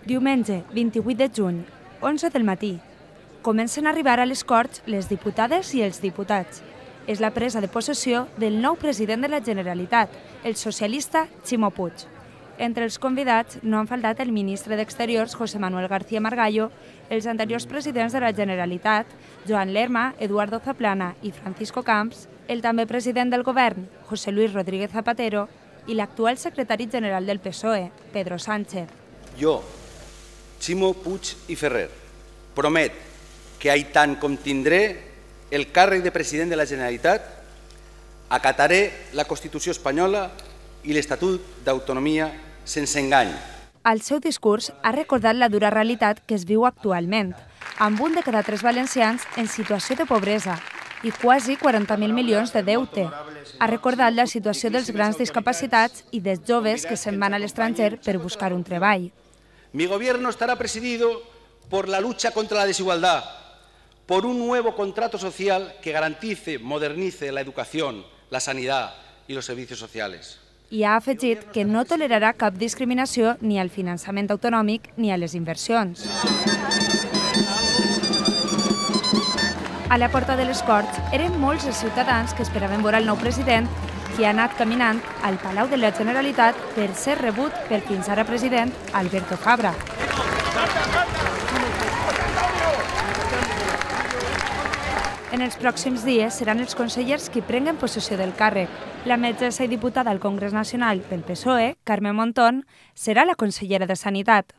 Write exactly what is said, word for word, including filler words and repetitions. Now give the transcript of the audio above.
Diumenge, vint-i-vuit de juny, onze del matí. Comencen a arribar a les Corts les diputades i els diputats. És la presa de possessió del nou president de la Generalitat, el socialista Ximo Puig. Entre els convidats no han faltat el ministre d'Exteriors, José Manuel García Margallo, els anteriors presidents de la Generalitat, Joan Lerma, Eduardo Zaplana i Francisco Camps, el també president del govern, José Luis Rodríguez Zapatero, i l'actual secretari general del P S O E, Pedro Sánchez. Jo, Ximo Puig i Ferrer, promet que ai tant com tindré el càrrec de president de la Generalitat, acataré la Constitució espanyola i l'Estatut d'Autonomia sense engany. Al seu discurs ha recordat la dura realitat que es viu actualment, amb un de cada tres valencians en situació de pobresa i quasi quaranta mil milions de deute. Ha recordat la situació dels grans discapacitats i dels joves que se'n van a l'estranger per buscar un treball. Mi gobierno estará presidido por la lucha contra la desigualdad, por un nuevo contrato social que garantice, modernice la educación, la sanidad y los servicios sociales. I ha afegit que no tolerarà cap discriminació ni al finançament autonòmic ni a les inversions. A la porta de les Corts eren molts els ciutadans que esperaven veure el nou president, que ha anat caminant al Palau de la Generalitat per ser rebut pel fins ara president Alberto Fabra. En els pròxims dies seran els consellers qui prenguen possessió del càrrec. La metgessa i diputada al Congrés Nacional pel P S O E, Carme Montón, serà la consellera de Sanitat.